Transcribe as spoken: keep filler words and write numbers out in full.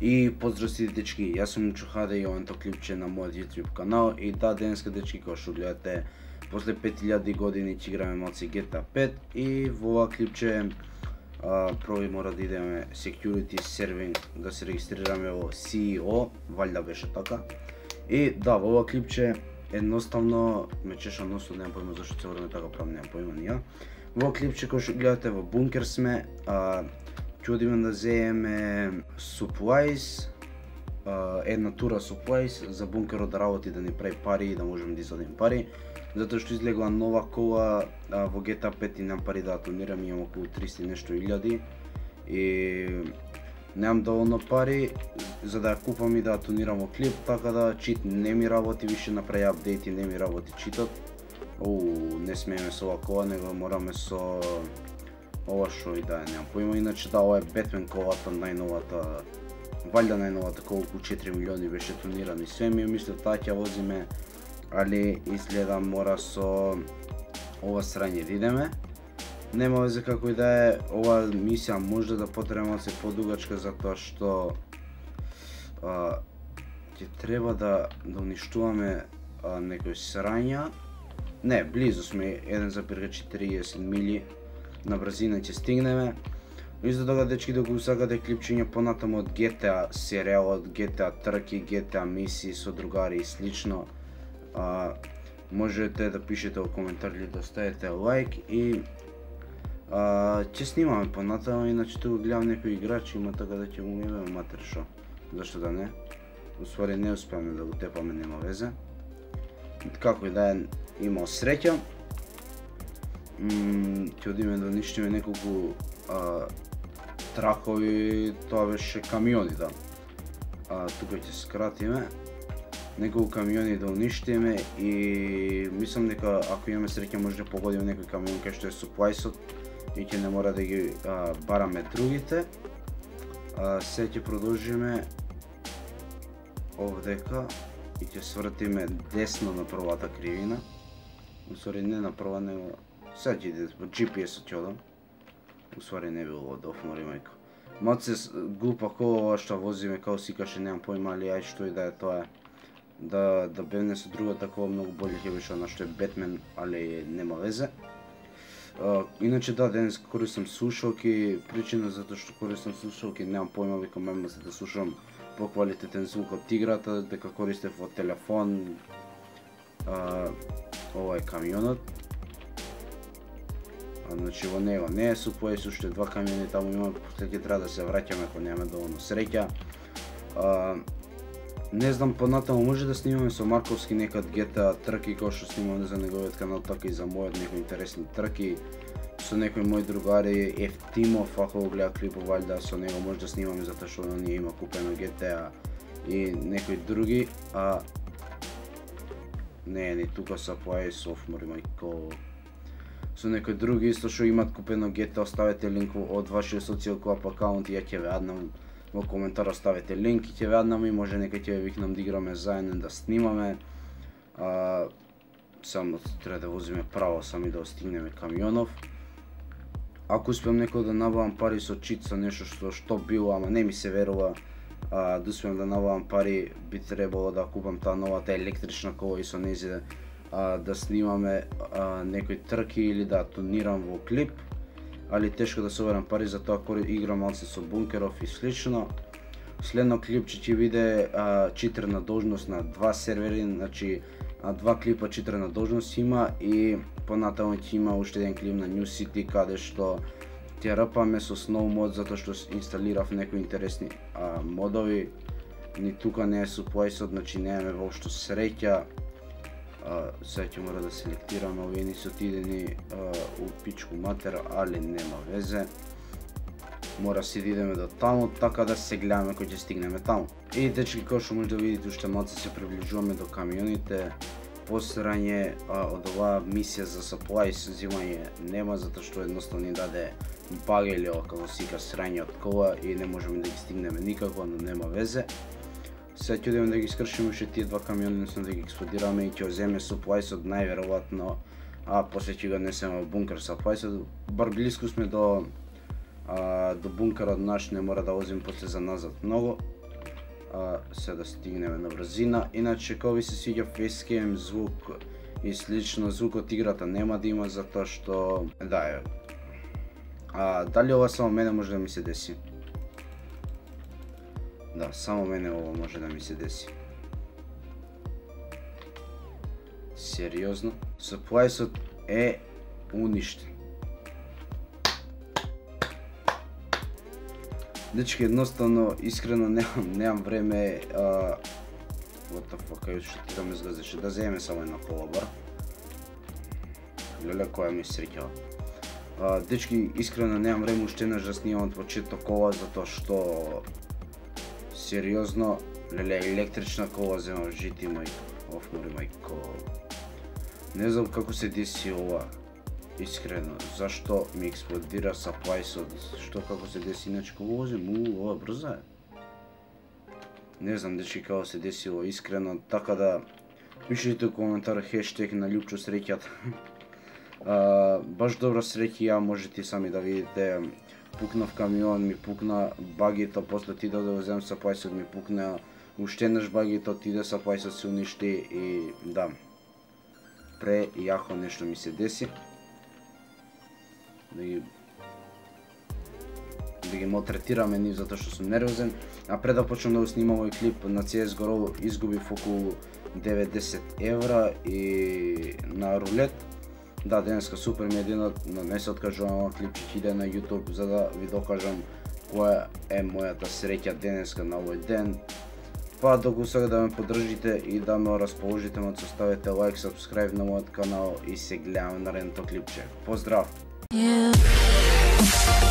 И поздрав сите дечки, јас сум Чухаде и овото клипче на мојот YouTube канал. И да, денеска дечки, како што гледате, после пет илјади години ќе играме малце Джи Ти Ей пет и во ова клипче а, прво мора да идеме security serving, да се регистрираме во Си И О, валјда беше така. И да, во ова клипче едноставно ме чеша носот, немам појма зашто цело време така правам, немам појма ни ја. Во ова клипче кој што гледате во бункер сме, а, ќе одиме да земеме supplies, една тура supplies за бункерот да работи, да ни прави пари и да можеме да извадиме пари. Затоа што излегла нова кола во Джи Ти Ей пет и немам пари да ја тонирам, имам околу триста и нешто илјади и немам доволно пари за да ја купам и да ја тонирам во клип, така да чит не ми работи, више направи апдейт и не ми работи читот. Оу, не смееме со ова кола, него мораме со ова што и да, немам поима. Иначе да, ова е Бетмен колата, најновата, валјда најновата кола, околу четири милиони беше тонирана и све, ми мислев таа ќе возиме, али изгледа мора со ова срање да идеме. Нема везе како и да е, ова мисија може да потреба малце подугачка затоа што а, ќе треба да, да уништуваме а, некои срања. Не, близу сме, еден запирка четириесет мили на брзина ќе стигнеме. Исто така дечки, да го сакате клипчиња понатаму од Джи Ти Ей серијалот, Джи Ти Ей трки, Джи Ти Ей мисии со другари и слично, а, можете да пишете во коментари, да ставите лайк и а, ќе снимаме понатаму, иначе тука гледам некои играчи има, така да ќе му имаме матер шо. Зашто да не? Уствари не успеаме да го тепаме, нема везе. Како и да е, имал среќа. Ќе одиме да уништиме неколку а, тракови, тоа беше камиони, да. А, тука ќе скратиме. Неколку камиони да уништиме и мислам дека ако имаме среќа може да погодиме некој камион кај што е суплајсот и ќе не мора да ги а, бараме другите. А, се ќе продолжиме овдека и ќе свртиме десно на првата кривина. Усвари не на прва, него сега ќе иде во Джи Пи Ес-от ќе одам. Усвари не било од офмори мајко. Малце глупа кола ова што возиме, као си каше немам појма, али ај што и да е тоа е. Да, да бевне со другата кола многу боле ќе беше она што е Бетмен, али нема везе. Uh, иначе да, денес користам слушалки, причина затоа што користам слушалки, немам појма, викам мема се да слушам поквалитетен звук од играта, дека користев во телефон. Uh, ова е камионот. А, значи во него не е суплајс, уште два камиони таму има, после ќе треба да се враќаме ако немаме доволно среќа. Uh, не знам, понатаму може да снимаме со Марковски некад Джи Ти Ей трки, кој што снимаме за неговиот канал, така и за мојот некои интересни трки. Со некои мои другари, Ефтимов, ако го гледа клипов, валјда со него може да снимаме затоа што оние има купено Джи Ти Ей и некои други. А не, ни тука са плајс офмори мајко. Со некои други исто што имат купено Джи Ти Ей, оставете линк од вашиот Social Club акаунт и ја ќе ве аднам во коментар, оставете линк и ќе ве аднам и може некој ќе ве викнам да играме заедно, да снимаме. А, само треба да возиме право сами да остигнеме камионов. Ако успеам некој да набавам пари со чит, со нешто што што било, ама не ми се верува, а, да успеам да набавам пари, би требало да купам таа новата електрична кола и со нејзе а, да снимаме а, некои трки или да тонирам во клип, али тешко да соберам пари, затоа кога играм малце со бункеров и слично. Следно клипче ќе биде а, читерна должност на два сервери, значи а, два клипа читерна должност има и понатаму ќе има уште еден клип на New City каде што ќе рпаме со Snow мод затоа што инсталирав некои интересни а, модови. Ни тука не е суплајсот, значи немаме воопшто среќа. Uh, сега ќе мора да селектираме, овие ни се отидени uh, у пичку матер, али нема везе. Мора си да идеме до таму, така да се гледаме кој ќе стигнеме таму. И дечки, кој што може да видите, уште малце се приближуваме до камионите. Посрање uh, од оваа мисија за supplies зимање нема, затоа што едноставно ни даде бага или ова како сика срање од кола и не можеме да ги стигнеме никако, но нема везе. Сега ќе одиме да ги скршиме уште тие два камиони, односно да ги експлодираме и ќе земе суплајсот најверојатно, а после ќе го несеме во бункер суплајсот. Бар блиску сме до а, до бункерот наш, не мора да возиме после за назад многу. а се да стигнеме на брзина. Иначе кога ви се свиѓа facecam звук и слично, звук од играта нема да има затоа што да е. А дали ова само мене може да ми се деси? Да, само мене ова може да ми се деси. Сериозно? Supplies-от е уништен. Дечки, едноставно, искрено немам, немам време. А... What the fuck, ајде што ти да ме згазеше, да земе само една кола бар. Леле, која ми среќава. А, дечки, искрено немам време уште еднаш да снимам почеток кола, затоа што... Сериозно, леле, електрична кола земам, жити мој. Оф, мори мајко. Не знам како се деси ова. Искрено, зашто ми експлодира supplies-от, што како се деси, иначе кога возим, уу, ова брза е. Не знам дечки како се десило искрено, така да пишете у коментар хештег на Љупчо среќата. Баш добра среќа ја, можете сами да видите. Пукнав камион, ми пукна багито, после отидов да возем supplies-от, ми пукна уште еднаш багито, отиде supplies-от, се уништи и да. Пре јако нешто ми се деси. Да ги да ги малтретираме нив затоа што сум нервозен, а пред да почнам да го снимам овој клип на си ес го изгубив околу деветдесет евра и на рулет. Да, денеска супер ми е денот, но не се откажувам, ова клип ќе иде на YouTube за да ви докажам која е мојата среќа денеска на овој ден. Па доколку сега да ме поддржите и да ме расположите, ме оставете лайк, subscribe на мојот канал и се гледаме на наредното клипче. Поздрав! Yeah.